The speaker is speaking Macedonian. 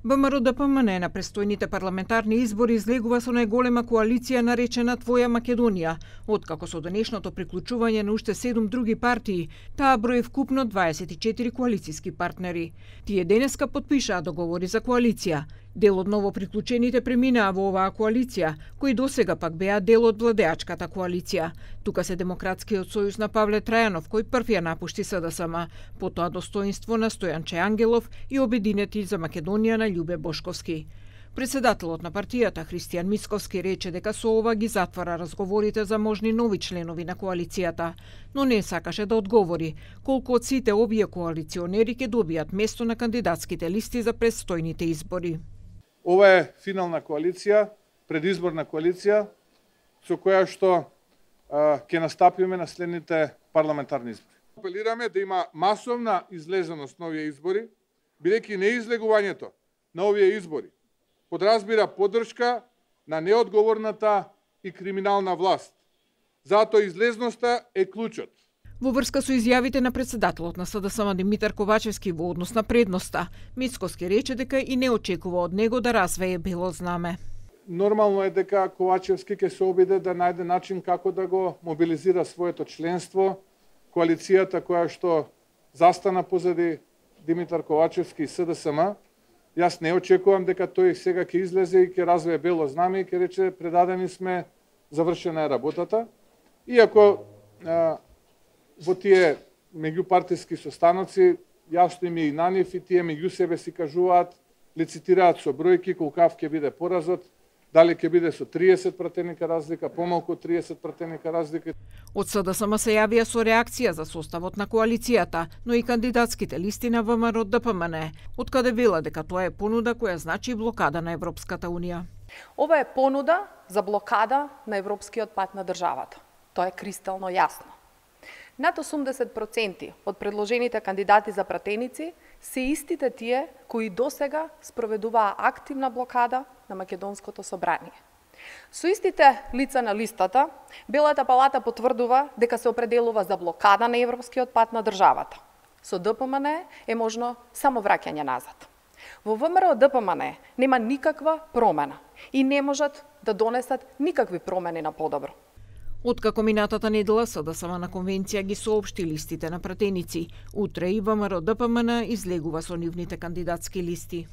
ВМРО-ДПМН на престојните парламентарни избори излегува со најголема коалиција наречена Твоја Македонија. Откако со денешното приклучување на уште 7 други партии, таа брои вкупно 24 коалициски партнери. Тие денеска потпишаа договори за коалиција. Дел од ново приклучените преминаа во оваа коалиција, кои досега пак беа дел од владеачката коалиција. Тука се Демократскиот сојуз на Павле Трајанов, кој прв ја напушти СДСМ, потоа Достоинство на Стојанче Ангелов и Обединети за Македонија на Љубе Бошковски. Председателот на партијата Христијан Мицковски рече дека со ова ги затвара разговорите за можни нови членови на коалицијата, но не сакаше да одговори колку од сите овие коалиционери ќе добијат место на кандидатските листи за престојните избори. Ова е финална коалиција, предизборна коалиција, со која што ќе настапиме на следните парламентарни избори. Апелираме да има масовна излезеност на овие избори, бидејќи неизлегувањето на овие избори подразбира поддршка на неодговорната и криминална власт. Затоа излезноста е клучот. Во врска со изјавите на председателот на СДСМ Димитар Ковачевски во однос на предноста, Мицковски рече дека и не очекува од него да развее бело знаме. Нормално е дека Ковачевски ќе се обиде да најде начин како да го мобилизира своето членство, коалицијата која што застана позади Димитар Ковачевски и СДСМ. Јас не очекувам дека тој сега ќе излезе и ќе развие бело знаме и ќе рече предадени сме, завршена е работата. Иако во тие меѓупартиски состаноци јасно им е и на нив и тие меѓу себе си кажуваат, лицитираат со бројки колкав ќе биде поразот, дали ќе биде со 30 пратеника разлика, помалку од 30 пратеника разлика. Од СДСМ се јавија со реакција за составот на коалицијата, но и кандидатските листи на ВМРО-ДПМН, од каде вела дека тоа е понуда која значи блокада на Европската Унија. Ова е понуда за блокада на европскиот пат на државата. Тоа е кристално јасно. Над 80% од предложените кандидати за пратеници се истите тие кои досега спроведуваа активна блокада на Македонското собрание. Со истите лица на листата, Белата палата потврдува дека се определува за блокада на европскиот пат на државата. Со ДПМН е можно само враќање назад. Во ВМРО-ДПМН нема никаква промена и не можат да донесат никакви промени на подобро. Откако минатата недела СДСМ на конвенција ги соопшти листите на пратеници, утре и ВМРО-ДПМН излегува со нивните кандидатски листи.